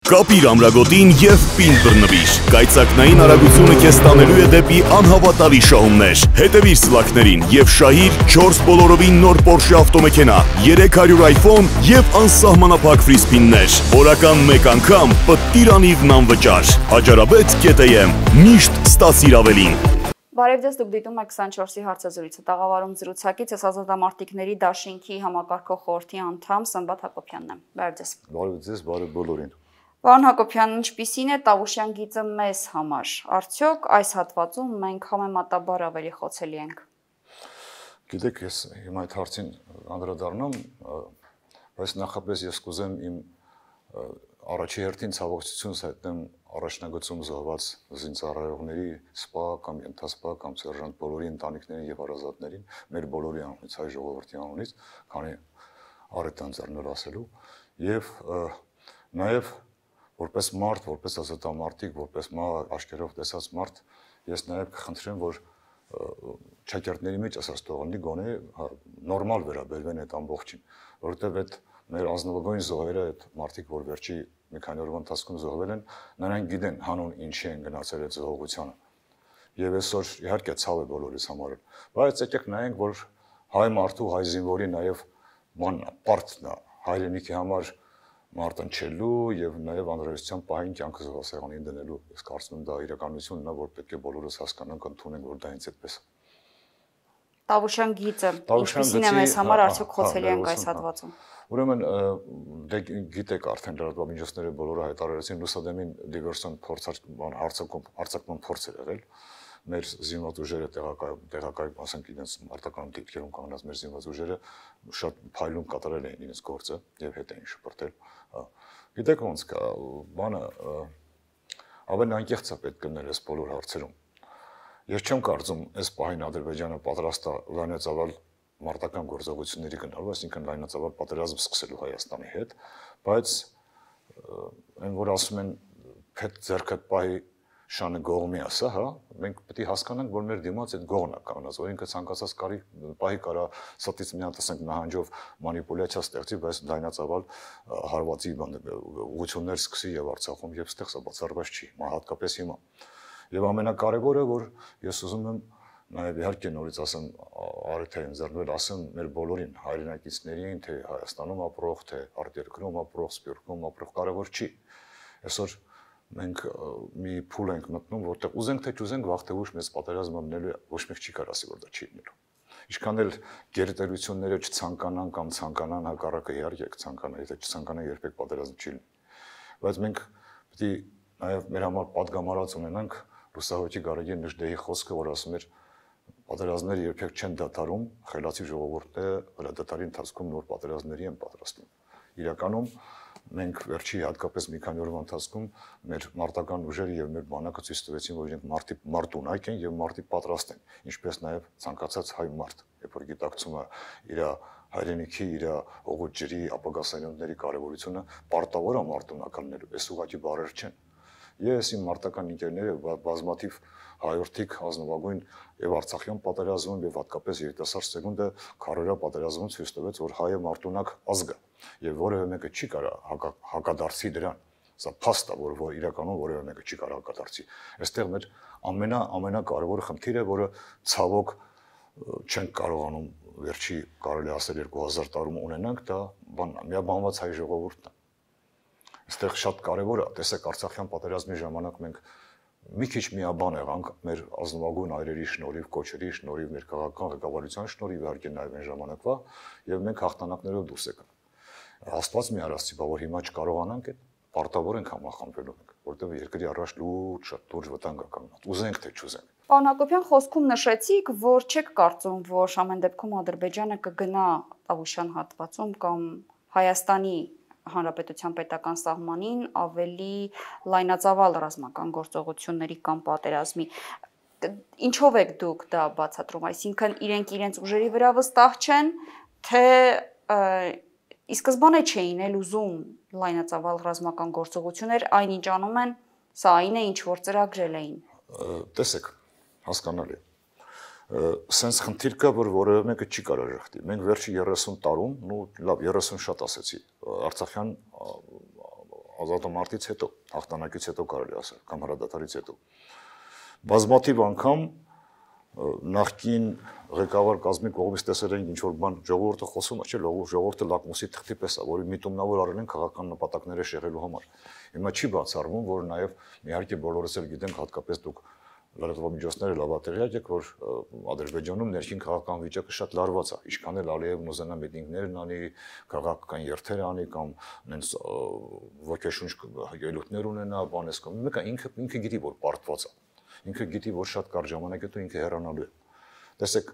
Կապիր ամրագոտին և պին բռնվիր։ Կայծակնային արագությունը քեզ տանելու է դեպի անհավատալի շահումներ։ Հետևիր սլաքներին և շահիր 4 բոլորովին նոր Porsche ավտոմեքենա, 300 iPhone և անսահմանափակ ֆրի սփիններ։ Օրական 1 անգամ պտտիր անիվն անվճար։ Հաջարաբետ.am միշտ ստացիր ավելին։ Բարև ձեզ, դուք դիտում եք 24-ի հարցազրույցը, տաղավարում զրուցակից ես ազատամարտիկների դաշինքի համակարգող խորհրդի անդամ Սմբատ Հակոբյանն եմ։ Բարև ձեզ։ Բարև ձեզ, բարև բոլորին։ Պարոն Հակոբյան, ինչպիսին է Տավուշյան գիծը մեզ համար։ Արդյոք այս հատվածում մենք համեմատաբար ավելի խոցելի ենք։ Գիտեք, ես հիմա այդ հարցին անդրադառնամ, բայց նախապես ես կուզեմ իմ առաջի հերթին ցավոքցությունս հայտնեմ առաջնագծում զոհված զինծառայողների սպա կամ ենթասպա կամ սերժանտ բոլորի ընտանիքներին եւ հարազատներին, մեր բոլորի անունից, հայ ժողովրդի անունից, քանի առետան ձեռնել ասելու, եւ նաեւ որպես մարդ, որպես ազատամարտիկ, որպես աշկերտով տեսած մարդ, ես նաեւ կխնդրեմ, որ ճակերտների մեջ ասած թողնի գոնե նորմալ վերաբերվեն այդ ամբողջին, որովհետեւ այդ մեր ազնվագույն զոհերը, այդ մարդիկ, որ վերջի մի քանի օրվա ընթացքում զոհվել են, նրանք գիտեն հանուն ինչի են գնացել այդ զոհողությանը։ Եվ այսօր իհարկե ցավ է բոլորիս համար, բայց եկեք նայենք, որ հայ մարդու, հայ զինվորի նաև պարտքն է հայրենիքի համար մարտնչելու եւ նաև անհրաժեշտության պահին կյանքը զոհասեղանին դնելու։ Ես կարծում եմ դա իրականությունն է, որ պետք է բոլորս հասկանանք, ընդունենք, որ դա հենց այդպես է։ Տավուշյան գիծը ինչպիսին է մեզ համար, արդյոք խոցելի ենք այս հատվածում։ Ուրեմն դե գիտեք արդեն լրատվամիջոցները բոլորը հայտարարեցին Լուսադեմին դիվերսիոն հարձակման փորձ էր եղել։ Մեր զինված ուժերը տեղակայ, ասենք իրենց մարտական դիրքերում կանգնած մեր զինված ուժերը շատ փայլուն կատարել էին իրենց գործը եւ հետ էին շփրտել։ Գիտեք ոնց կա, բանը ավելի անկեղծ է պետք գնել այս բոլոր հարցերում։ Ես չեմ կարծում այս պահին Ադրբեջանը պատրաստ է լայնածավալ մարտական գործողությունների գնալու, այսինքն լայնածավալ պատերազմ սկսելու Հայաստանի հետ, բայց այն որ ասում են փետ ձեռքդ պահի շանը գողմի ասա, հա, մենք պետք է հասկանանք, որ մեր դիմաց այդ գողն է կանգնած, որ ինքը ցանկացած պահի կարա սատից մի հատ ասենք նահանջով մանիպուլյացիա ստեղծի, բայց լայնածավալ հարվածի ուղղություններ սկսի եւ Արցախում եւ ստեղ սա բացառված չի, հատկապես հիմա։ Եվ ամենակարևորը, որ ես ուզում եմ նաև իհարկե նորից ասեմ Արեթային ձեռնվել ասեմ մեր բոլորին հայրենակիցներին, թե Հայաստանում ապրող, թե արտերկրում ապրող, Սփյուռքում ապրող, կարևոր չի։ Այսօր մենք մի փուլ ենք մտնում, որտեղ ուզենք թե չուզենք վաղ թե ուշ մեծ պատերազմ լինելու է, ոչ մեկ չի կարասի, որ դա չի լինելու։ Ինչքան էլ գերտերությունները չցանկանան կամ ցանկանան, հակառակը իհարկե կցանկանան, եթե չցանկանան երբեք պատերազմ չի լինի։ Բայց մենք պետք է նաև մեր համար պատգամարած ունենանք Լուսահոգի Գարեգին Նժդեհի խոսքը, որ ասում էր պատերազմները երբեք չեն դադարում, խելացի ժողովուրդները հրադադարի ընթացքում նոր պատերազմների են պատրաստվում։ Իրականում մենք վերջի հատկապես մի քանի օրվա ընթացքում մեր մարտական ուժերը եւ մեր բանակը ցույց տվեցին, որ իրենք մարտունակ են եւ մարտի պատրաստ են, ինչպես նաեւ ցանկացած հայ մարդ, երբ որ գիտակցում է իր հայրենիքի, իր օղուտ ջրի, ապագա սերունդների կարեւորությունը, պարտավոր է մարտունակալնելու, այս ուղղակի բառեր չեն։ Ես իմ մարտական ընկերները բազմաթիվ հայորդիկ ազնվագույն եւ Արցախյան պատերազմում եւ հատկապես երիտասարդ սերունդը քարորա պատերազմում ցույց տվեց, որ հայը մարտունակ ազգ է եւ որևէ մեկը չի կարող հակադարձի դրան։ Սա փաստ է, որ իրականում որևէ մեկը չի կարող հակադարձի։ Այստեղ մեր ամենակարևոր խնդիրը, որը ցավոք չենք կարողանում վերջի կարելի ասել 2000 տարում ունենանք, դա միաբանված հայ ժողովուրդն է։ Այստեղ շատ կարևոր է, տեսեք Արցախյան պատերազմի ժամանակ մենք մի քիչ միաբան եղանք մեր ազնվագույն այրերի շնորհիվ, կոչերի շնորհիվ, մեր քաղաքական ղեկավարության շնորհիվ իհարկե նաև այն ժամանակվա եւ մենք հաղթանակներով դուրս եկանք։ Աստված մի արածի, բա որ հիմա չկարողանանք այդ պարտավոր ենք համախմբվելու մենք, որտեղ երկրի առաջ լուրջ շատ լուրջ վտանգ է կանգնած։ Ուզենք թե չուզենք։ Պարոն Հակոբյան, խոսքում նշեցիք, որ չեք կարծում, որ ամեն դեպքում Ադրբեջանը կգնա Տավուշյան հատվածում կամ Հայաստանի Հանրապետության պետական սահմանին ավելի լայնածավալ ռազմական գործողությունների կամ պատերազմի։ Ինչով եք դուք դա բացատրում, այսինքն իրենք իրենց ուժերի վրա վստահ չեն, թե ի սկզբանե չէին էլ ուզում լայնածավալ ռազմական գործողություններ, այնինչ անում են, սա այն է, ինչ որ ծրագրել էին։ Տեսեք, հասկանալի։ Սենց խնդիր կա, որ որևէ մեկը չի կարող ժխտի։ Մենք վերջի 30 տարում, լավ, 30 շատ ասեցի, Արցախյան ազատամարտից հետո, հաղթանակից հետո կարելի ասել, կամ հրադադարից հետո։ Բազմաթիվ անգամ նախկին ղեկավար կազմի կողմից տեսել ենք ինչ որ բան ժողովուրդը խոսում է, չէ՞, ժողովուրդը լակմուսի թղթի պես է, որի միտումնավոր արել են քաղաքական նպատակները շեղելու համար։ Հիմա չի բացառվում, որ նաև իհարկե բոլորս էլ գիտենք, հատկապես դուք լրատվամիջոցները լավատեղյակ եք, որ Ադրբեջանում ներքին քաղաքական վիճակը շատ լարված է, ինչքան էլ Ալիևն ուզենա միտինգներն անի, քաղաքական երթեր անի կամ նենց ոգեշունչ ելույթներ ունենա, բանես կամ մեկը ինքը գիտի, որ պարտված է։ Ինքը գիտի, որ շատ կարճ ժամանակ հետո ինքը հեռանալու է։ Տեսեք,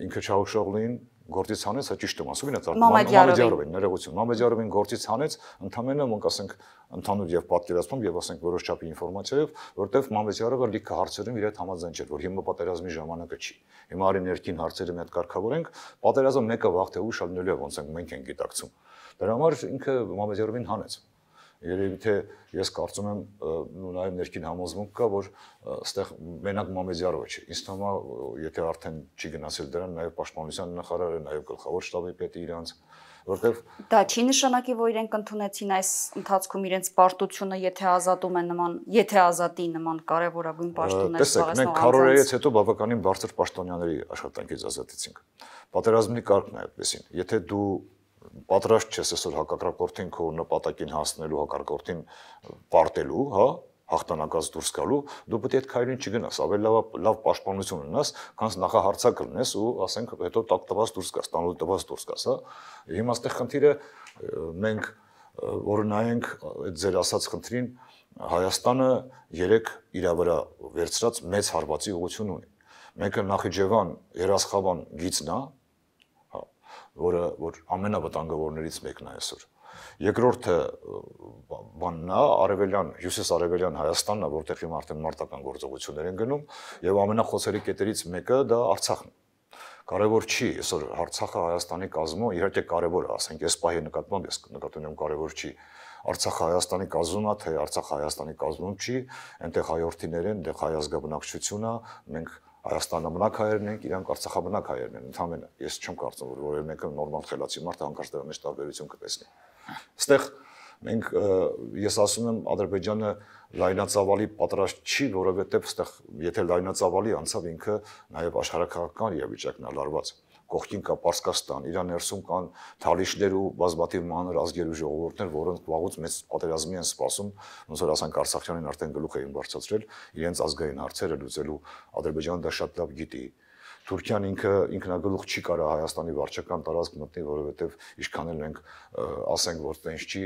ինքը Չաուշօղլուին գործից հանեց, հա ճիշտ եմ ասում, Մամեդյարովին, ներողություն, Մամեդյարովին գործից հանեց, ընդամենը մենք ասենք ընդհանուր եւ պատկերացմամբ եւ ասենք որոշ չափի ինֆորմացիայով, որտեվ Մամեդյարովը լիքը հարցերում իր հետ համաձայն չէր, որ հիմա պատերազմի ժամանակը չի։ Հիմա արի ներքին հարցերը մի հատ կարգավորենք, պատերազմը մեկը վաղ թե ուշ ալնելու է, ոնց ենք մենք ենք գիտակցում։ Դրա համար ինքը Մամեդյարովին հանեց։ Երևի թե ես կարծում եմ նաև ներքին համոզմունք կա, որ այստեղ մենակ Մամեդյարովը չէ։ Ինձ թվում է, եթե արդեն չի գնացել դրան, նաև պաշտպանության նախարարը, նաև գլխավոր շտաբի պետը իրանց, որտեվ դա չի նշանակի, որ իրենք ընդունեցին այս ընթացքում իրենց պարտությունը, եթե ազատի նման կարևորագույն պաշտոններ զբաղեցնող անձանց։ Տեսեք, մենք քարորայից հետո բավականին բարձր պաշտոնյաների աշխատանքից ազատեցինք։ Պատերազմի կարգն է այդպեսին։ Եթե դու պատրաստ չես այսօր հակակրակորդին քո նպատակին հասնելու, հակակրակորդին պարտելու, հա, հաղթանակած դուրս գալու, դու պետք է այդ քայլին չգնաս, ավելի լավ պաշտպանություն ունենաս, քան նախահարցակ լինես ու ասենք հետո տակ տված դուրս գաս, տանուլ տված դուրս գաս, հա։ Հիմա այստեղ խնդիրը մենք որ նայենք այդ ձեր ասած խնդրին, Հայաստանը 3 իր վրա վերցրած մեծ հարվածի ուղղություն ունի։ Մեկը Նախիջևան, Երասխավան գիծն է, որ ամենավտանգավորներից մեկն է այսօր։ Երկրորդը բանն է արևելյան, հյուսիս-արևելյան Հայաստանն է, որտեղ հիմա արդեն մարտական գործողություններ են գնում, եւ ամենախոցերի կետերից մեկը դա Արցախն է։ Կարևոր չի այսօր Արցախը Հայաստանի կազմում, իհարկե կարևոր է, ասենք այս պահի նկատմամբ ես նկատում եմ կարևոր չի։ Արցախը Հայաստանի կազմում է, թե Արցախը Հայաստանի կազմում չի, այնտեղ հայորդիներ են, այնտեղ հայ ազգաբնակչություն է, մենք Հայաստանամնակ հայերն ենք, իրանք Արցախամնակ հայերն են, ընդհանրապես ես չեմ կարծում, որ որևէ մեկը նորմալ խելացի մարդ հանկարծ դրա մեջ տարբերություն կտեսնի։ Այստեղ մենք ես ասում եմ Ադրբեջանը լայնածավալի պատրաստ չի, որովհետև այստեղ եթե լայնածավալի անցավ ինքը նաև աշխարհակաղակական իրավիճակն է լարված։ Կողքին կա Պարսկաստան, իր ներսում կան թալիշներ ու բազմաթիվ մանր ազգեր ու ժողովուրդներ, որոնք վաղուց մեծ պատերազմի են սպասում, ոնց որ ասենք Արցախյանին արդեն գլուխ էին բարձրացրել, իրենց ազգային հարցերը լուծելու Ադրբեջանը դա շատ լավ գիտի։ Թուրքիան ինքնագլուխ չի կարող Հայաստանի վարչական տարածք մտնի, որովհետև ինչքան էլ ենք ասենք, որ տենց չի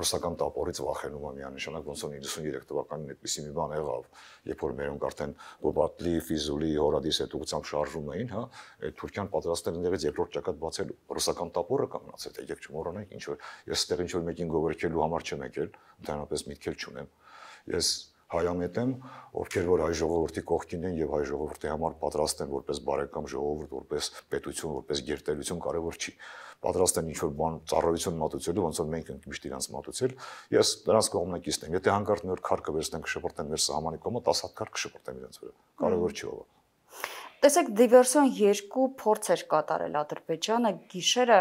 ռուսական տապորից վախենում է միանշանակ, ոնց որ 93 թվականին այդպիսի մի բան եղավ, երբ որ մերոնք արդեն Բոբատլի, Ֆիզուլի, Հորադիս հետ ուղղությամբ շարժում էին, հա, Թուրքիան պատրաստել ընդեղից երկրորդ ճակատ բացելու ռուսական տապորը կանգնացել, թե եկեք չմոռանանք, ինչ որ ես այդտեղ ինչ որ մեկին գովերքելու համար չեմ եկել, ընդհանրապես միտքել չունեմ։ Ես հայամետ եմ, ովքեր որ հայ ժողովրդի կողքին են եւ հայ ժողովրդի համար պատրաստ են որպես բարեկամ ժողովուրդ, որպես պետություն, որպես գերտերություն կարևոր չի։ Պատրաստ են ինչ-որ բան ծառայություն մատուցելու, ոնց որ մենք ենք միշտ իրանց մատուցել։ Ես դրանց կողմնակիցն եմ։ Եթե հանկարծ մի օր քար կվերցնենք շփորտեն մեր սահմանի կողմը, 10 հատ քար կշփորտեմ իրանց վրա։ Կարևոր չի ով։ Տեսեք, դիվերսիոն 2 փորձ էր կատարել Ադրբեջանը, գիշերը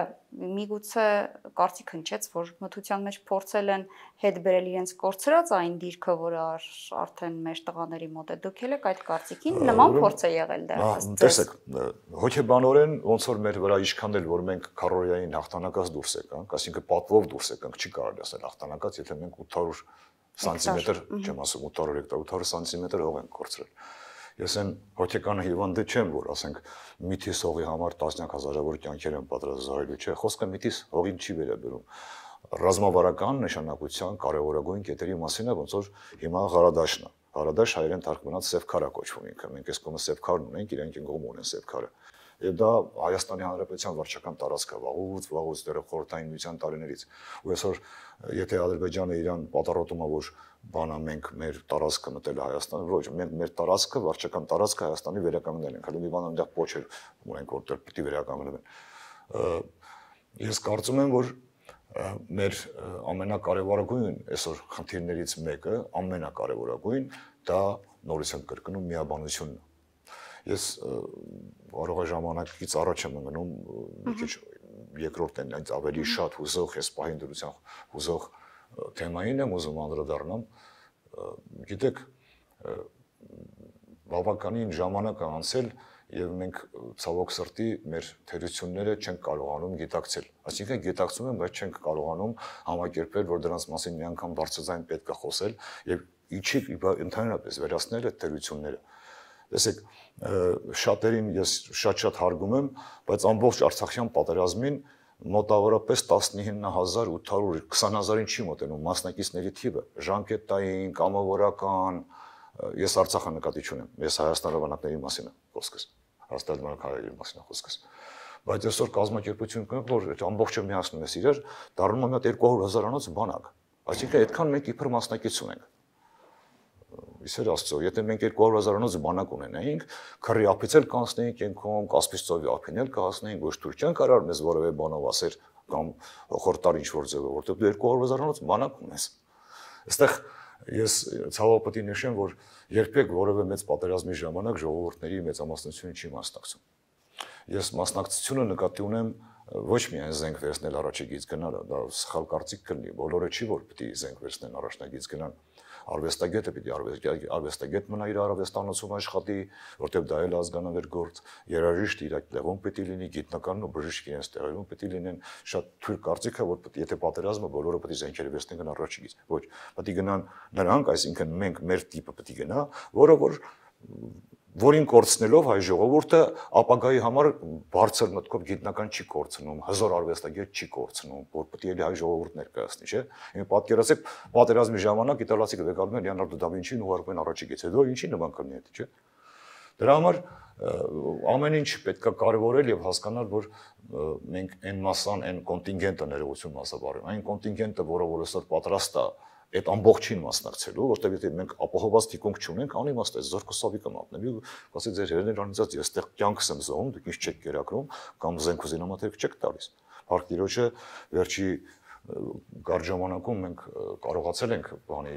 միգուցե կարծիք հնչեց, որ մթության մեջ փորձել են հետ բերել իրենց կորցրած այն դիրքը, որը արդեն մեր տղաների մոտ է։ Դուք եք այդ կարծիքին, նման փորձ է եղել դեռ։ Տեսեք, հոգեբանորեն ոնց որ մեր վրա իշխան էլ որ մենք քարորիային հաղթանակած դուրս եկանք, այսինքն պատվով դուրս եկանք, չի կարելի ասել հաղթանակած, եթե մենք 800 սանտիմետր, չեմ ասում 800 հեկտար, 800 սանտիմետր հող ենք կորցրել։ Ես այն հոգեկան հիվանդը չեմ, որ ասենք միթիս հողի համար տասնյակ հազարավոր կյանքեր են պատրաստ զոհելու, չէ, խոսքը միթիս հողին չի վերաբերում։ Ռազմավարական նշանակության կարևորագույն կետերի մասին է, ոնց որ հիմա Ղարադաշն է։ Ղարադաշ հայերեն թարգմանած սև քար է կոչվում ինքը։ Մենք այս կողմը սև քարն ունենք, իրանք են կողմ ունեն սև քարը։ Եվ դա Հայաստանի Հանրապետության վարչական տարածք է վաղուց դեռ խորհրդային միության տարիներից։ Ու այսօր եթե Ադրբեջանը իրան պատառոտում է, որ բանա մենք մեր տարածքը մտել է Հայաստան, ոչ, մենք մեր տարածքը վարչական տարածքը Հայաստանի վերականգնել ենք, հələ մի բան այնտեղ փոչեր ունենք, որտեղ պետք է վերականգնվեն։ Ես կարծում եմ, որ մեր ամենակարևորագույն այսօր խնդիրներից մեկը, ամենակարևորագույն դա նորից եմ կրկնում միաբանությունն է։ Ես կարող է ժամանակից առաջ եմ մնում մի քիչ երկրորդն այնց ավելի շատ հուզող, ես պահին դրության հուզող թեմային եմ ուզում անդրադառնամ, գիտեք, բավականին ժամանակ է անցել եւ մենք ցավոք սրտի մեր թերությունները չենք կարողանում գիտակցել։ Այսինքն գիտակցում ենք, բայց չենք կարողանում համակերպել, որ դրանց մասին մի անգամ բարձրաձայն պետք է խոսել եւ իջի ընդհանրապես վերացնել այդ թերությունները։ Տեսեք, շատերին ես շատ հարգում եմ, բայց ամբողջ Արցախյան պատերազմին մոտավորապես 19800, 20000-ին չի մոտենում մասնակիցների թիվը, ժամկետային, կամավորական, ես Արցախը նկատի չունեմ, ես Հայաստանի բանակների մասին եմ խոսքս, Հայաստանի բանակների մասին եմ խոսքս, բայց այսօր կազմակերպություն կա, որ ամբողջը միացնում ես իրար, դառնում է մի հատ 200,000-անոց բանակ, այսինքն այդքան մենք իբր մասնակից ունենք։ Իսեր Աստծո, եթե մենք 200,000-անոց բանակ ունենայինք, քրի ափից էլ կանցնեինք ենքում, Կասպից ծովի ափին էլ կհասնեինք, ոչ թույլ չեն կարող մեզ որևէ բանով ասել կամ խորտար ինչ-որ ձևով, որտեղ դու 200,000-անոց բանակ ունես։ Այստեղ ես ցավոք պետք է նշեմ, որ երբեք որևէ մեծ պատերազմի ժամանակ ժողովուրդների մեծամասնությունը չի մասնակցում։ Ես մասնակցությունը նկատի ունեմ ոչ միայն զենք վերցնել առաջագից գնալը, դա սխալ կարծիք կլինի, բոլորը չի որ պետք է զենք վերցնեն առաջնագից գնան։ Արվեստագետը պիտի արվեստագետ մնա իր արվեստանոցում աշխատի, որտեղ դա էլ ազգանավեր գործ, երաժիշտ իր տեղում պիտի լինի, գիտնականն ու բժիշկը իրենց տեղերում պիտի լինեն, շատ թույլ կարծիք է, որ պետք է եթե պատերազմը բոլորը պետք է զենքերը վերցնեն առաջիկից, ոչ, պետք է գնան նրանք, այսինքն մենք մեր տիպը պետք է գնա, որին կորցնելով հայ ժողովուրդը ապագայի համար բարձր մտքով գիտնական չի կորցնում, հզոր արվեստագետ չի կորցնում, որ պետք է հայ ժողովուրդ ներկայացնի, չէ՞։ Հիմա պատկերացեք, պատերազմի ժամանակ իտալացիները վեկալում են Լեոնարդո դա Վինչին ու ուղարկում են առաջիկից, հետո ինչի նման կլինի դա, չէ՞։ Դրա համար ամեն ինչ պետք է կարևորել եւ հասկանալ, որ մենք այն մասան, այն կոնտինգենտը ներողություն մասաբարում, այն կոնտինգենտը, որը որ այսօր պատրաստ է այդ ամբողջին մասնակցելու, որտեղ եթե մենք ապահովված թիկունք չունենք, անիմաստ է զորքոսավի կմատնելու, ասի ձեր հերներ անիծած ես այդտեղ կյանքս եմ զոհում, դուք ինչ չեք կերակրում կամ զենք ու զինամթերք չեք տալիս։ Փառք Տիրոջը, վերջի կարճ ժամանակում մենք կարողացել ենք բանի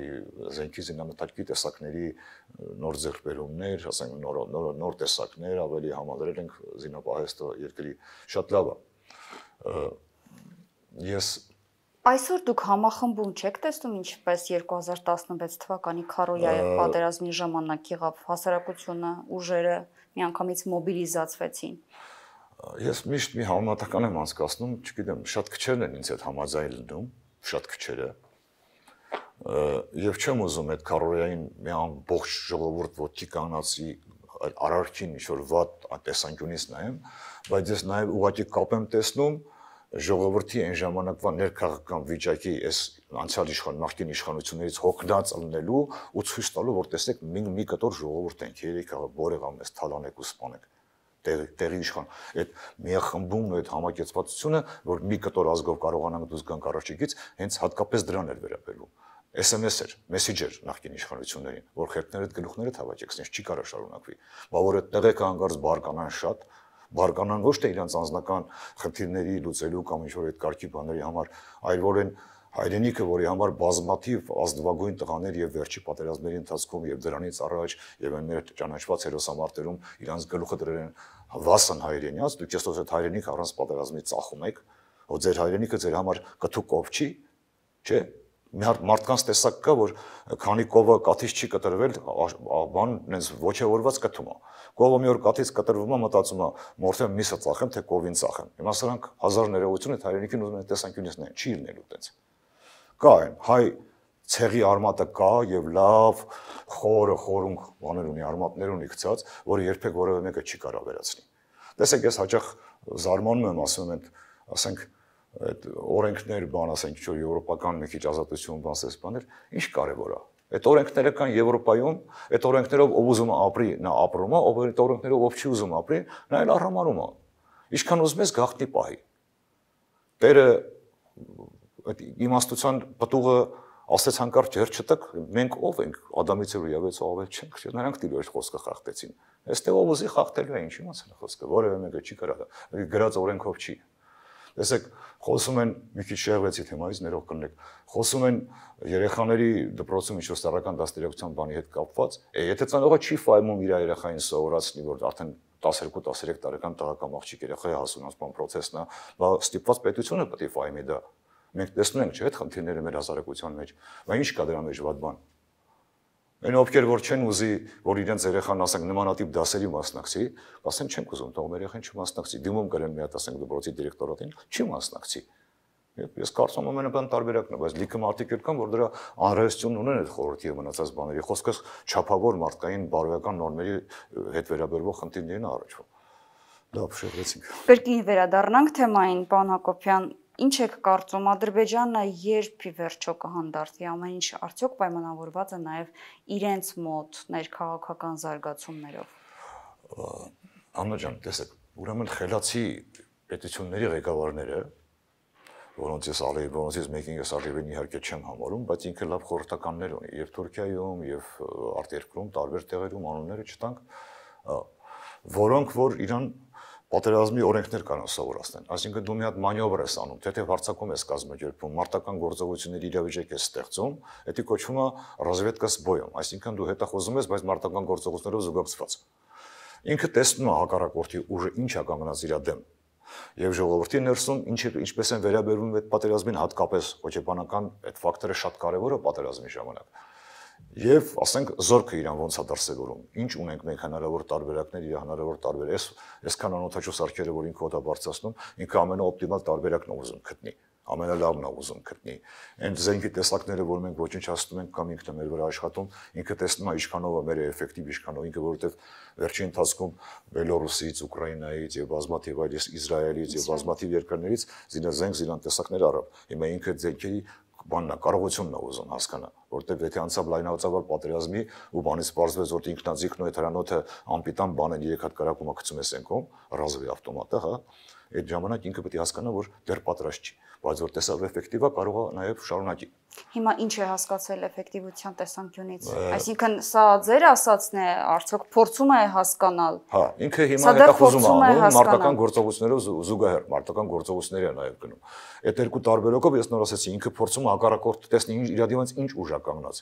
զենքի զինամթերքի տեսակների նոր ձեռքբերումներ, ասենք նոր տեսակներ, ավելի համադրել ենք զինապահեստը երկրի շատ լավ է։ Ես Այսօր դուք համախմբում չեք տեսնում ինչպես 2016 թվականի Քարոյայի պատերազմի ժամանակ եղավ հասարակությունը, ուժերը միանգամից մոբիլիզացվեցին։ Ես միշտ մի համեմատական եմ անցկացնում, չգիտեմ, շատ քչերն են ինձ հետ համաձայն լինում, շատ քչերը։ Եվ չեմ ուզում այդ Քարոյային մի ամբողջ ժողովուրդ ոտքի կանացի արարքին ինչ-որ վատ տեսանկյունից նայեմ, բայց ես նաև ուղղակի կապ եմ տեսնում ժողովրդի այն ժամանակվա ներքաղաքական վիճակի այս անցյալ նախկին իշխանություններից հոգնած ելնելու ու ցույց տալու, որ տեսեք մի կտոր ժողովուրդ ենք, երեք բորեղամ ես թալանեք ու սպանեք տեղի իշխան։ Այդ միախմբումն ու այդ համակեցվածությունը, որ մի կտոր ազգով կարողանանք դուրս գանք առաջիկից, հենց հատկապես դրան էր վերաբերվում։ SMS էր, մեսեջեր նախկին իշխանություններին, որ խերտներդ գլուխներդ հավաքեք, sense չի կարող շարունակվի։ Բա որ այդ տեղեկը հանգարց բարկանան շատ բարկանան ոչ թե իրենց անձնական խնդիրների լուծելու կամ ինչ-որ այդ կարգի բաների համար, այլ որ են հայրենիքը, որի համար բազմաթիվ ազնվագույն տղաներ եւ վերջի պատերազմների ընթացքում եւ դրանից առաջ եւ այն մեր ճանաչված հերոսամարտերում իրանց գլուխը դրել են վասն հայրենիած, դուք այսօր այդ հայրենիքը առանց պատերազմի ծախում եք, որ ձեր հայրենիքը ձեր համար կթուկով չի, չէ՞։ Մի հատ մարդկանց տեսակ կա, որ քանի կովը կաթից չի կտրվել, բան նենց ոչեորված կթում է։ Կովը մի օր կաթից կտրվում է, մտածում է, մորթեմ միսը ծախեմ, թե կովին ծախեմ։ Հիմա սրանք հազար ներողություն այդ հայրենիքին ուզում են տեսանկյունից նայեն, չի լինելու տենց։ Կա այն, հայ ցեղի արմատը կա եւ լավ խորը խորունգ բաներ ունի, արմատներ ունի գցած, որը երբեք որևէ մեկը չի կարող վերացնի։ Տեսեք, ես հաճախ զարմանում եմ, ասում եմ, ասենք այդ օրենքներ, բան ասենք, ինչ որ եվրոպական մի քիչ ազատություն, բանսես բաներ, ինչ կարևոր է։ Այդ օրենքները կան Եվրոպայում, այդ օրենքներով ով ուզում է ապրի, նա ապրում է, ով այդ օրենքներով ով չի ուզում ապրի, նա էլ արհամարում է։ Ինչքան ուզում ես գաղտնի պահի։ Տերը այդ իմաստության պտուղը ասեց հանկարծ ջեր չտակ, մենք ով ենք, Ադամից ու Եվից ավել չենք, նրանք դիլոր խոսքը խախտեցին։ Այստեղ ով ուզի խախտելու է, ինչի մասն է խոսքը, որևէ մեկը չի կարող, գրած օրենքով չի։ Տեսեք, խոսում են մի քիչ շեղվեցի թեմայից ներող կլինեք։ Խոսում են երեխաների դպրոցում ինչ-որ սեռական դաստիարակության բանի հետ կապված։ Եթե ծանոթը չի ֆայմում իր երեխային սովորացնի, որ արդեն 12-13 տարեկան տղական աղջիկ երեխայի հասունացման process-ն է, բա ստիպված պետությունը պետք է ֆայմի դա։ Մենք տեսնում ենք, չէ՞, այդ խնդիրները մեր հասարակության մեջ, բայց ինչ կա դրա մեջ վատ բան։ Այն ովքեր որ չեն ուզի, որ իրենց երեխան ասենք նմանատիպ դասերի մասնակցի, ասեն չենք ուզում, թող մեր երեխան չմասնակցի, դիմում կրեն մի հատ ասենք դպրոցի դիրեկտորատին, չի մասնակցի։ Ես կարծում եմ ամենաբան տարբերակն է, բայց լիքը մարդիկ կան, որ դրա անհրաժեշտություն ունեն այդ խորհրդի եւ մնացած բաների։ Խոսքը չափավոր մարդկային բարոյական նորմերի հետ վերաբերվող խնդիրներին առաջվում։ Դա փշեղեցինք։ Կրկին վերադառնանք թեմային, պարոն Հակոբյան, ինչ եք կարծում, Ադրբեջանը երբ ի վերջո կհանդարտվի, ամեն ինչ արդյոք պայմանավորված է նաեւ իրենց մոտ ներքաղաքական զարգացումներով։ Աննա ջան, տեսեք, ուրեմն խելացի պետությունների ղեկավարները, որոնցից մեկին ես Ալիևին իհարկե չեմ համարում, բայց ինքը լավ խորհրդականներ ունի եւ Թուրքիայում եւ արտերկրում տարբեր տեղերում անունները չտանք, որոնք որ իրան պատերազմի օրենքներ կարող սովորացնեն։ Այսինքն դու մի հատ մանյովր ես անում, թե հարձակում ես կազմակերպում, մարտական գործողությունների իրավիճակ ես ստեղծում, դա կոչվում է ռազվեդկա с боем, այսինքն դու հետախուզում ես, բայց մարտական գործողություններով զուգակցված։ Ինքը տեսնում է հակառակորդի ուժը ինչ է կանգնած իր դեմ։ Եվ ժողովրդի ներսում ինչպես են վերաբերվում այդ պատերազմին, հատկապես հոգեբանական այդ ֆակտորը շատ կարևոր է պատերազմի ժամանակ։ Եվ ասենք զորքը իրան ոնց է դրսևորում, ինչ ունենք մենք հնարավոր տարբերակներ, իր հնարավոր տարբեր այսքան անօթաչու սարքերը, որ ինքը օդա բարձրացնում, ինքը ամենաօպտիմալ տարբերակն է ուզում գտնի, ամենալավն է ուզում գտնի։ Այն զենքի տեսակները, որ մենք ոչնչացնում ենք կամ ինքն է մեր վրա աշխատում, ինքը տեսնում է ինչքանով է մեր էֆեկտիվ, ինչքանով ինքը, որովհետև վերջին ընթացքում Բելորուսից, Ուկրաինայից եւ բազմաթիվ այլ Իսրայելից եւ բազմաթիվ երկրներից զինազենք տեսակներ առավ։ Հիմա ինքը զենքերի բանն է, կարողությունն է ուզում հասկանա, որտեղ եթե անցավ լայնածավալ պատերազմի ու բանից պարզվեց, որ ինքնաձիգն ու այդ հրանոթը անպիտան բան են 3 հատ կարակում գցում է սենքում, ռազվի ավտոմատը, հա, այդ ժամանակ ինքը պետք է հասկանա, որ դեռ պատրաստ չի, բայց որ տեսավ էֆեկտիվ է, կարող է նաև շարունակի։ Հիմա ինչ է հասկացել էֆեկտիվության տեսանկյունից։ Այսինքն սա ձեր ասածն է, արդյոք փորձում է հասկանալ։ Հա, ինքը հիմա հետախուզում է անում մարտական գործողություններով զուգահեռ, մարտական գործողությունների է նաև գնում։ Այդ երկու տարբերակով ես նոր ասացի, ինքը փորձում է հակառակորդը տեսնի իր դիմաց ինչ ուժ է կանգնած։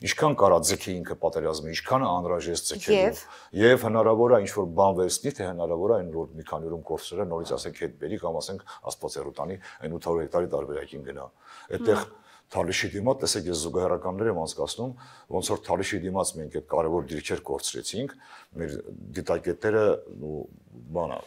Ինչքան կարա ձգի ինքը պատերազմի, ինչքան է անհրաժեշտ ձգելու։ Եվ հնարավոր է ինչ որ բան վերցնի, թե հնարավոր է այն որ մի քանի օրում կորցրել, նորից ասենք հետ բերի կամ ասենք Աստվածերու տանի այն 800 հեկտարի տարբերակին գնա։ Այդտեղ Թալիշի դիմաց, տեսեք, ես զուգահեռականներ եմ անցկացնում, ոնց որ Թալիշի դիմաց մենք այդ կարևոր դիրքեր կորցրեցինք, մեր դիտակետերը բանա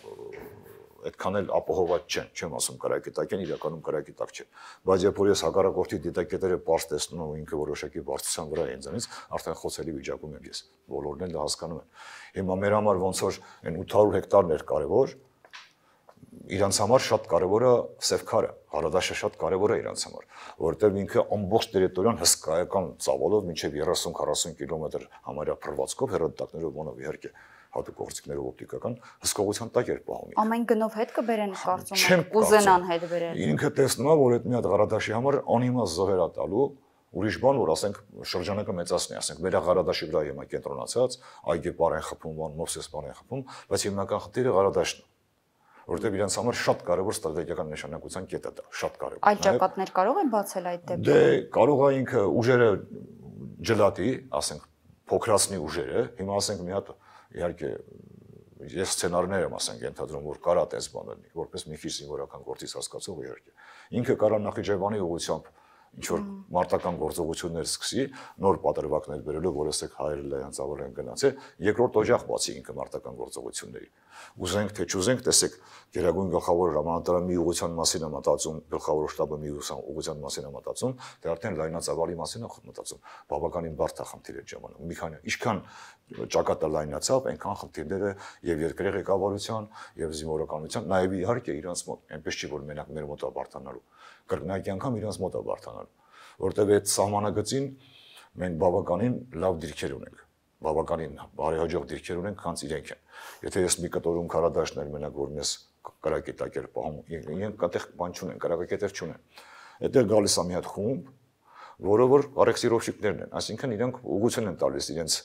այդքան էլ ապահոված չեմ ասում կարակետակ են, իրականում կարակետակ չէ։ Բայց երբ որ ես հակառակորդի դիտակետերը պարզ տեսնում եմ ու ինքը որոշակի բարձրության վրա է ինձանից, արդեն խոցելի վիճակում եմ ես։ Բոլորն էլ դա հասկանում են։ Հիմա մեր համար ոնց որ այն 800 հեկտարն էր կարևոր, իրանց համար շատ կարևոր է Սևքարը, Հարադաշը շատ կարևոր է իրանց համար, որովհետև ինքը ամբողջ տերիտորիան հսկայական ծավալով մինչև 30-40 կիլոմետր համարյա փռվածքով հեռադիտակներով ոնով իհարկե հատուկ գործիքներով օպտիկական հսկողության տակ էր պահում։ Ամեն գնով հետ կբերեն կարծում եմ, կուզենան հետ բերել։ Ինքը տեսնում է, որ այդ մի հատ Հարադաշի համար անիմաստ զոհեր է տալու, ուրիշ բան, որ ասենք շրջանակը մեծացնի, ասենք մեր Հարադաշի վրա հիմա կենտրոնացած, այգի պարեն խփում, Մովսես պարեն խփում, բայց հիմնական խնդիրը Հարադաշն է, որտեղ իրենց համար շատ կարևոր ստրատեգիական նշանակության կետ է դա, շատ կարևոր։ Այլ ճակատներ կարող են բացել այդ դեպքում։ Դե կարող է ինքը ուժերը ջլատի, ասենք փոքրացնի ուժերը, հիմա ասենք մի հատ իհարկե ես սցենարներ եմ ասենք ենթադրում, որ կարա տես բան լինի, որպես մի քիչ զինվորական գործից հասկացող իհարկե։ Ինքը կարա Նախիջևանի ուղղությամբ ինչ որ մարտական գործողություններ սկսի, նոր պատրվակներ բերելով, որ ասեք հայերը լայնածավալ են գնացել, երկրորդ օջախ բացի ինքը մարտական գործողությունների։ Ուզենք թե չուզենք, տեսեք, Գերագույն գլխավոր հրամանատարը մի ուղղության մասին է մտածում, գլխավոր շտաբը մի ուղղության մասին է մտածում, դե արդեն լայնածավալի մասին է մտածում։ Բավականին բարդ է խնդիր այդ ժամանակ։ Մի քանի ինչքան ճակատը լայնացավ, այնքան խնդիրները եւ երկրի ղեկավարության եւ զինվորականության, նաեւ իհարկե իրանց մոտ, այնպես չի որ մենակ մեր մոտ է բարթանալու։ Կրկնակի անգամ իրանց մոտ է բարթանալու, որտեւ այդ սահմանագծին մենք բավականին լավ դիրքեր ունենք, բավականին բարեհաջող դիրքեր ունենք, քանց իրենք են։ Եթե ես մի կտորում քարադաշներ մենակ որ մեզ կարակետակեր պահում, իրենք այդտեղ բան չունեն, կարակետեր չունեն։ Այդտեղ գալիս է մի հատ խումբ, որը որ արեքսիրովշիկներն են, այսինքն իրենք ուղղություն են տալիս իրենց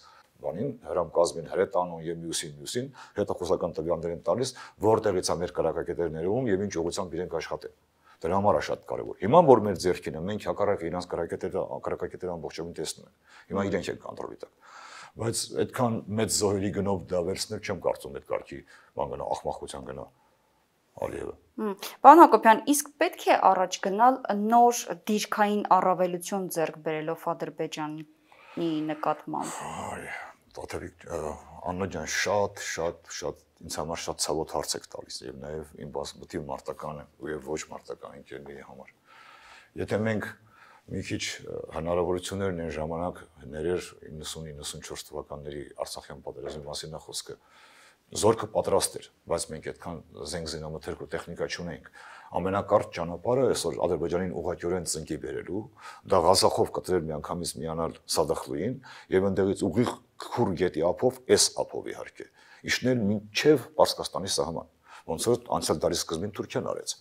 բանին, հրամկազմին հրետանուն եւ մյուսին, հետախուզական տվյալներ են տալիս, որտեղից է մեր կարակետերները ներում եւ ինչ ուղղությամբ իրենք աշխատեն։ Դրա համար է շատ կարևոր։ Հիմա որ մեր ձեռքին է, մենք հակառակ իրանց կարակետերը ամբողջովին տեսնում ենք։ Հիմա իրենք են կոնտրոլի տակ։ Բայց այդքան մեծ զոհերի գնով դա վերցնել չեմ կարծում այդ կարգի բան գնա, ախմախության գնա։ Ալիևը։ Պարոն Հակոբյան, իսկ պետք է առաջ գնալ նոր դիրքային առավելություն ձեռք բերելով Ադրբեջանի նկատմամբ։ Տաթևիկ Աննա ջան, շատ ինձ համար շատ ցավոտ հարց եք տալիս եւ նաեւ իմ բազմաթիվ մարտական եւ ոչ մարտական ընկերների համար։ Եթե մենք մի քիչ հնարավորություններն են ժամանակ ներեր 90-94 թվականների Արցախյան պատերազմի մասին է խոսքը։ Զորքը պատրաստ էր, բայց մենք այդքան զենք զինամթերք ու տեխնիկա չունեինք։ Ամենակարճ ճանապարհը այսօր Ադրբեջանին ուղղակիորեն ծնկի բերելու, դա Ղազախով կտրել միանգամից միանալ Սադախլուին եւ այնտեղից ուղիղ քուր գետի ափով, այս ափով իհարկե, իշնել մինչեւ Պարսկաստանի սահման, ոնց որ անցյալ դարի սկզբին Թուրքիան արեց։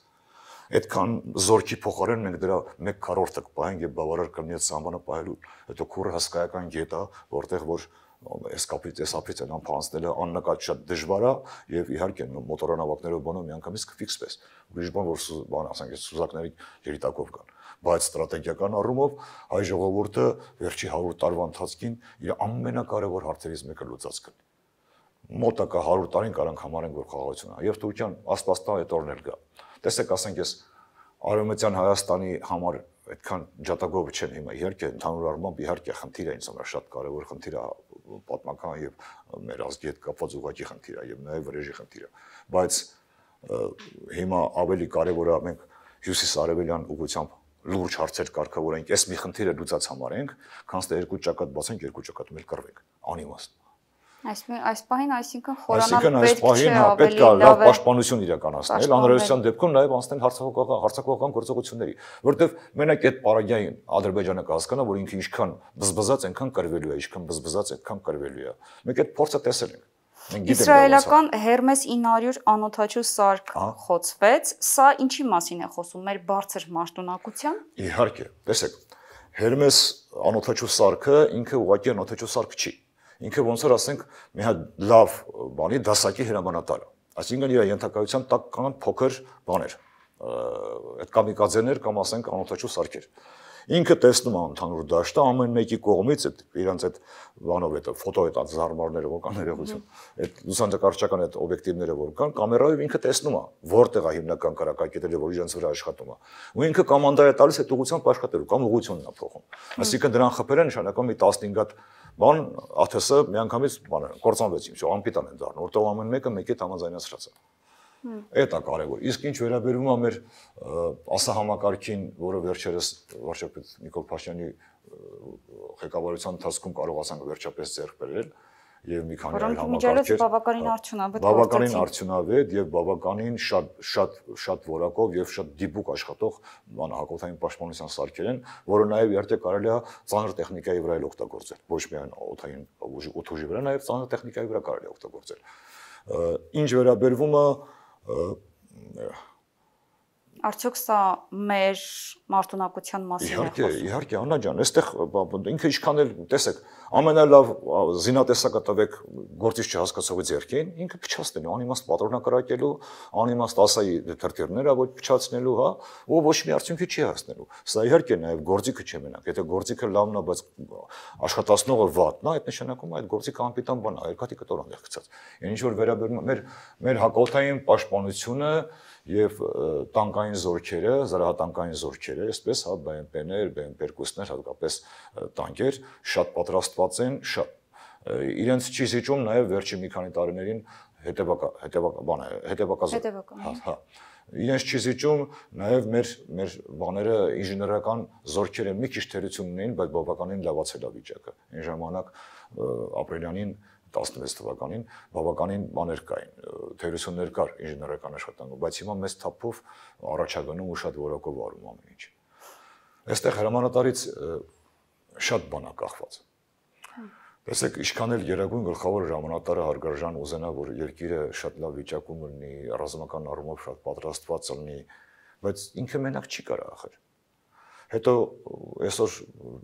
Այդքան զորքի փոխարեն մենք դրա 1/4-ը կպահենք եւ բավարար կլինի այդ սահմանը պահելու։ Հետո քուրը հսկայական գետ է, որտեղ որ այս կապից այն անփանցնելը աննկատ շատ դժվար է եւ իհարկե մոտորանավակներով բանով միանգամից կֆիքսվես։ Ուրիշ բան որ բան ասենք սուզակների երիտակով կան, բայց ստրատեգիական առումով հայ ժողովուրդը վերջի 100 տարվա ընթացքին իր ամենակարևոր հարցերից մեկը լուծած կլինի։ Մոտակա 100 տարին կարանք համարենք որ խաղաղություն է եւ Թուրքիան աստվածտա այդ օրն էլ գա։ Տեսեք, ասենք ես Արևմտյան Հայաստանի համար այդքան ջատագովը չեն հիմա, իհարկե ընդհանուր առմամբ իհարկե խնդիր է ինձ համար շատ կարևոր խնդիր է պատմական եւ մեր ազգի հետ կապված ուղղակի խնդիր է եւ նաեւ վրեժի խնդիր է, բայց հիմա ավելի կարևոր է մենք հյուսիս-արևելյան ուղղությամբ լուրջ հարցեր կարգավորենք, այս մի խնդիրը լուծած համարենք, քան թե երկու ճակատ բացենք, երկու ճակատում էլ կռվենք, անիմաստ։ Այս պահին, այսինքն խորանալ պետք չէ, պետք է լավ պաշտպանություն իրականացնել, անհրաժեշտության դեպքում նաև անցնել հարձակողական գործողությունների, որտեղ մենակ այդ պարագային Ադրբեջանը կհասկանա, որ ինքը ինչքան բզբզած, այնքան կռվելու է, ինչքան բզբզած, այդքան կռվելու է։ Մենք այդ փորձը տեսել ենք։ Իսրայելական Hermes 900 անօդաչու սարք խոցվեց, սա ինչի մասին է խոսում, մեր բարձր մաշտունակության։ Իհարկե, տեսեք, Hermes անօդաչու սարքը ինքը ուղղակի անօդաչու սարք չի։ Ինքը ոնց որ ասենք մի հատ լավ բանի դասակի հրամանատար է։ Այսինքն իր ենթակայության տակ կան փոքր բաներ, այդ կամիկաձեներ կամ ասենք անօդաչու սարքեր։ Ինքը տեսնում է ընդհանուր դաշտը ամեն մեկի կողմից այդ իրանց այդ բանով այդ ֆոտո այդ զարմարները որ կան ներողություն, այդ լուսանկարչական այդ օբյեկտիվները որ կան, կամերայով ինքը տեսնում է որտեղ է հիմնական կարակակետերը, որ իրենց վրա աշխատում է։ Ու ինքը կոմանդա է տալիս այդ ուղղությամբ աշխատելու կամ ուղղությունն է փոխում։ Այսինքն դրան խփերը նշանակում մի 15 հատ բան ԱԹՍ միանգամից բանը կործանվեցին, շո անպիտան են դառնում, որտեղ ամեն մեկը մեկի համաձայնացրած է։ Այդ է կարևոր։ Իսկ ինչ վերաբերում է մեր ասահամակարգին, որը վերջերս վարչապետ Նիկոլ Փաշինյանի ղեկավարության ընթացքում կարողացանք վերջապես ձեռք բերել եւ մի քանի այլ համակարգեր բավականին արդյունավետ եւ բավականին շատ որակով եւ շատ դիպուկ աշխատող հակոբային պաշտպանության սարքեր են, որը նաեւ իհարկե կարելի է ծանր տեխնիկայի վրա էլ օգտագործել, ոչ միայն օդային ուժի վրա, նաեւ ծանր տեխնիկայի վրա կարելի է օգտագործել։ Ինչ վերաբերվում է Արդյոք սա մեր մարտունակության մասին է խոսում։ Իհարկե, Աննա ջան, այստեղ ինքը ինչքան էլ տեսեք, ամենալավ զինատեսակը տվեք գործիչ չհասկացողի ձեռքին, ինքը փչացնելու, անիմաստ պատրոնակրակելու, անիմաստ ասայի թրթիռները ոչ փչացնելու, հա, ու ոչ մի արդյունքի չի հասնելու։ Սա իհարկե նաև գործիքը չէ մենակ, եթե գործիքը լավն է, բայց աշխատացնողը վատն է, այդ նշանակում է այդ գործիքը անպիտան բան է, երկաթի կտոր է գցած։ Ինչ որ վերաբերում է մեր հակոբային պաշտպանությունը եւ տանկային զորքերը, զրահատանկային զորքերը, այսպես հա BMP-ներ, BMP-2-ներ, հատկապես տանկեր շատ պատրաստված են, շատ իրենց չի զիջում նաեւ վերջի մի քանի տարիներին հետևակազմ։ Հա։ Իրենց չի զիջում նաեւ մեր բաները ինժեներական զորքերը մի քիչ թերություն ունեին, բայց բավականին լավացել է վիճակը։ Այն ժամանակ ապրիլյանին 16 թվականին բավականին բաներ կային, թերություններ կար ինժեներական աշխատանքում, բայց հիմա մեծ թափով առաջագնում ու շատ որակով արում ամեն ինչ։ Այստեղ հրամանատարից շատ բան է կախված։ Տեսեք, ինչքան էլ երագույն գլխավոր հրամանատարը հարգարժան ուզենա, որ երկիրը շատ լավ վիճակում լինի, ռազմական առումով շատ պատրաստված լինի, բայց ինքը մենակ չի կարող ախր։ Հետո այսօր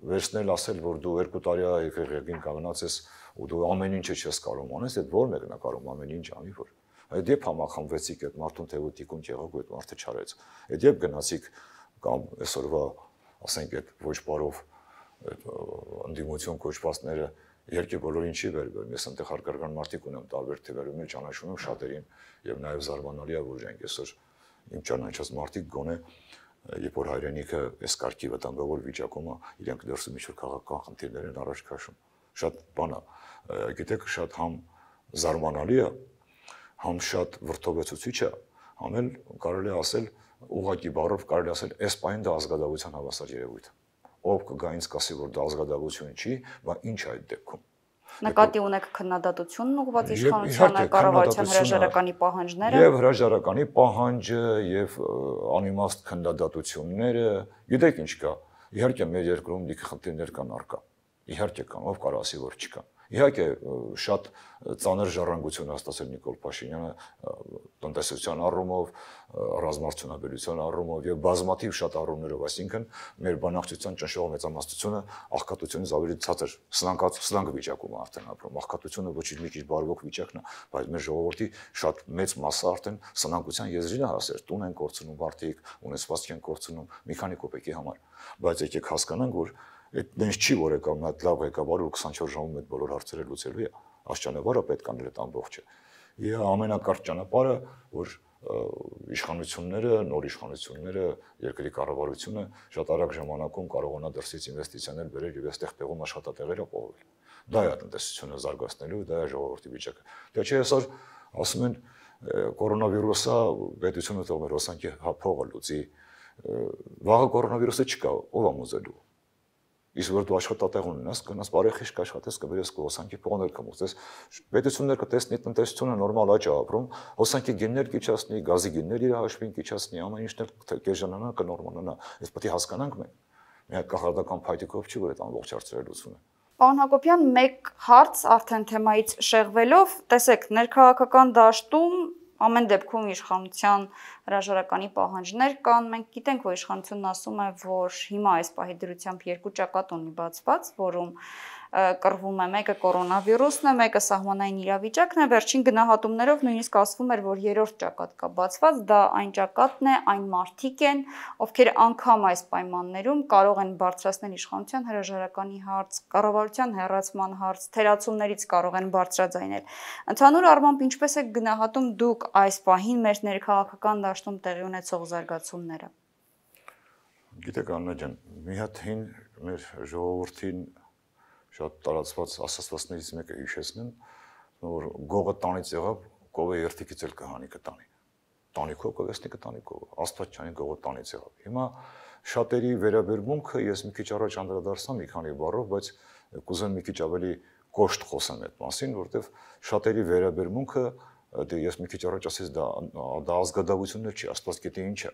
վերցնել ասել, որ դու 2 տարի եկեղեցին կանգնած ես ու դու ամեն ինչը չես կարող անես, այդ ո՞ր մեկն է կարող ամեն ինչ անի, որ այդ երբ համախմբվեցիք այդ մարդուն թեւոտիկուն եղավ ու այդ մարդը չարեց։ Այդ երբ գնացիք կամ այսօրվա, ասենք այդ ոչ բարով ընդդիմություն կոչվածները երկի բոլորին չի վերբերում։ Ես այնտեղ հարգարժան մարդիկ ունեմ տարբեր թվերում, ճանաչում եմ շատերին եւ նաեւ զարմանալի է, որ իրենք այսօր իմ ճանաչած մարդիկ գոնե երբ որ հայրենիքը այս կարգի վտանգավոր վիճակում է, իրենք դրսում ինչ-որ քաղաքական խնդիրներ են առաջ քաշում։ Շատ բան է, գիտեք, շատ համ զարմանալի է, համ շատ վրդովեցուցիչ է, համ էլ կարելի է ասել ուղղակի բառով կարելի ասել այս պահին դա ազգադավության հավասար երևույթ է։ Ով կգա ինձ կասի, որ դա ազգադավություն չի, բայց ինչ է այդ դեպքում։ Նկատի ունեք քննադատությունն ուղղված իշխանությանը, կառավարության հրաժարականի պահանջները։ Եվ հրաժարականի պահանջը, եւ անիմաստ քննադատությունները, գիտեք ինչ կա։ Իհարկե մեր երկրում լիքը խնդիրներ կան առկա։ Իհարկե կան, ով կարող ասի, որ չկան։ Իհարկե շատ ծանր ժառանգություն հաստատել Նիկոլ Փաշինյանը տնտեսության առումով, ռազմարտությունաբերության առումով եւ բազմաթիվ շատ առումներով, այսինքն մեր բանակցության ճնշող մեծամասնությունը աղքատությունից ավելի ցածր սլանգ վիճակում է արդեն ապրում։ Աղքատությունը ոչ մի քիչ բարվոք վիճակն է, բայց մեր ժողովրդի շատ մեծ մասը արդեն սնանկության եզրին է հասել, տուն են կորցնում մարդիկ, ունեցվածք են կորցնում մի քանի կոպեկի համար։ Բայց եկեք հասկանանք, որ այդ դենս չի, որ եկա մի հատ լավ ղեկավար ու 24 ժամում այդ բոլոր հարցերը լուծելու է։ Այս ճանապարհը պետք է անել այդ ամբողջը։ Եվ ամենակարճ ճանապարհը, որ իշխանությունները, նոր իշխանությունները, երկրի կառավարությունը շատ արագ ժամանակում կարողանա դրսից ինվեստիցիաներ բերել եւ այստեղ տեղում աշխատատեղեր ապահովել։ Դա է տնտեսությունը զարգացնելու, դա է ժողովրդի վիճակը։ Դե չէ այսօր ասում են կորոնավիրուսը պետությունը թող մեր հոսանքի փողը լուծի։ Վաղը կորոնավիրուսը չկա, ով է մոզելու։ Իսկ որ դու աշխատատեղ ունենաս, գնաս բարեխիղճ կաշխատես, կբերես հոսանքի փողներ կմուծես։ Պետությունները կտեսնի տնտեսությունը նորմալ աճ է ապրում, հոսանքի գիններ կիչացնի, գազի գիններ իր հաշվին կիչացնի, ամեն ինչն էլ կեժանանա, կնորմալանա։ Այս պետք է հասկանանք մենք։ Մի հատ կախարդական փայտիկով չի, որ այդ ամբողջ հարցերը լուծվում է։ Պարոն Հակոբյան, մեկ հարց արդեն թեմայից շեղվելով, տեսեք, ներքաղաքական դաշտում ամեն դեպքում իշխանության հրաժարականի պահանջներ կան, մենք գիտենք, որ իշխանությունն ասում է, որ հիմա այս պահի դրությամբ երկու ճակատ ունի բացված, որում կռվում է մեկը կորոնավիրուսն է, մեկը սահմանային իրավիճակն է, վերջին գնահատումներով նույնիսկ ասվում էր, որ երրորդ ճակատ կա բացված, դա այն ճակատն է, այն մարդիկ են, ովքեր անգամ այս պայմաններում կարող են բարձրացնել իշխանության հրաժարականի հարց, կառավարության հեռացման հարց, թերացումներից կարող են բարձրաձայնել։ Ընդհանուր առմամբ ինչպես է գնահատում դուք այս պահին մեր ներքաղաքական դաշտում տեղի ունեցող զարգացումները։ Գիտեք Աննա ջան, մի հատ հին մեր ժողովրդին շատ տարածված ասացվածներից մեկը հիշեցնեմ, որ գողը տանից եղավ, կովը երթիկից էլ կհանի կտանի։ Տանիքով կգստի կտանի կովը, Աստված չանի գողը տանից եղավ։ Հիմա շատերի վերաբերմունքը ես մի քիչ առաջ անդրադարձա մի քանի բառով, բայց կուզեմ մի քիչ ավելի կոշտ խոսեմ այդ մասին, որովհետև շատերի վերաբերմունքը ես մի քիչ առաջ ասես դա ազգադավություններ չի, Աստված գիտի ինչ է։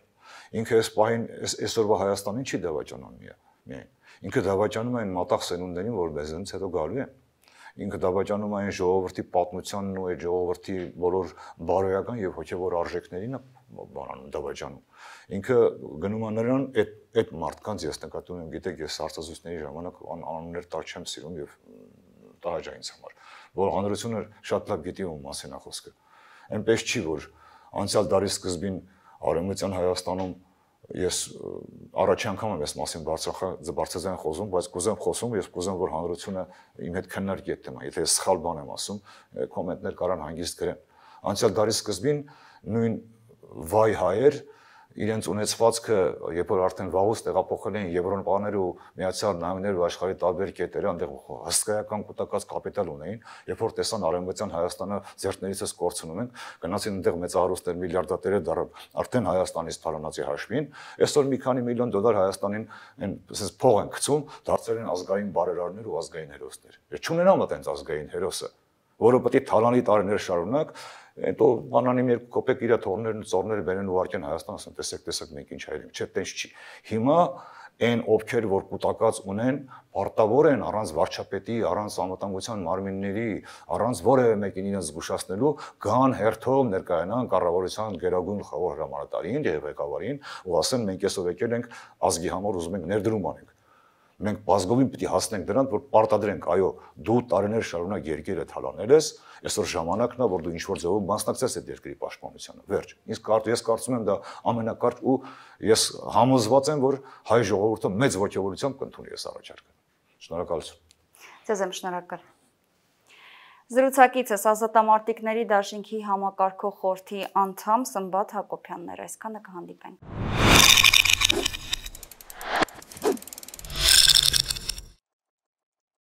Ինքը այս պահին այսօրվա Հայաստանին չի դավաճանում միայն։ Ինքը դավաճանում է այն մատաղ սերունդներին, որ մեզնից հետո գալու են։ Ինքը դավաճանում է այն ժողովրդի պատմությանն ու այդ ժողովրդի բոլոր բարոյական եւ հոգեվոր արժեքներին բանանում դավաճանում։ Ինքը գնում է նրան այդ մարդկանց ես նկատում եմ, գիտեք, ես հարցազրույցների ժամանակ անուններ տալ չեմ սիրում եւ տահաճ է ինձ համար, որ հանրությունը շատ լավ գիտի ում մասին է խոսքը։ Այնպես չի, որ անցյալ դարի սկզբին Արևմտյան Հայաստանում ես առաջի անգամ եմ այս մասին բարձրաձայն խոսում, բայց կուզեմ խոսում, ես կուզեմ, որ հանրությունը իմ հետ քննարկի այդ թեման։ Եթե ես սխալ բան եմ ասում, կոմենտներ կարան հանգիստ գրեն։ Անցյալ դարի սկզբին նույն վայ հայեր իրենց ունեցվածքը, երբ որ արդեն վաղուց տեղափոխել են Եվրոպաներ ու Միացյալ Նահանգներ ու աշխարհի տարբեր կետերը, այնտեղ հսկայական կուտակած կապիտալ ունեին, երբ որ տեսան Արևմտյան Հայաստանը ձեռքներիցս կորցնում են, գնացին այնտեղ մեծահարուստներ, միլիարդատերեր դառան արդեն Հայաստանից թալանացի հաշվին, այսօր մի քանի միլիոն դոլար Հայաստանին այսպես փող են գցում, դարձել են ազգային բարերարներ ու ազգային հերոսներ։ Ես չունենամ այդ ազգային հերոսը, որը պետք է թալանի տարիներ շարունակ Հետո բանանիմ երկու կոպեկ իր թորներն ու ծորները բերեն ուղարկեն Հայաստան, ասեն տեսեք մենք ինչ հայրենք, չէ, տենց չի։ Հիմա այն ովքեր որ կուտակած ունեն, պարտավոր են առանց վարչապետի, առանց անվտանգության մարմինների, առանց որևէ մեկին իրենց զգուշացնելու, գան հերթով ներկայանան կառավարության գերագույն գլխավոր հրամանատարին եւ ղեկավարին ու ասեն մենք այսօր եկել ենք ազգի համար ուզում ենք ներդրում անենք։ Մենք բազգովին պետք է հասնենք դրան, որ պարտադրենք, այո, դու տարիներ շարունակ երկիրը թալանել ես, այսօր ժամանակն է, որ դու ինչ-որ ձևով մասնակցես այդ երկրի պաշտպանությանը։ Վերջ։ Ես կարծում եմ դա ամենակարճ ու ես համոզված եմ, որ հայ ժողովուրդը մեծ ողջավորությամբ կընդունի այս առաջարկը։ Շնորհակալություն։ Ձեզ եմ շնորհակալ։ Զրուցակիցս ազատամարտիկների դաշինքի համակարգող խորհրդի անդամ Սմբատ Հակոբյանն էր, այսքանը կհանդիպենք։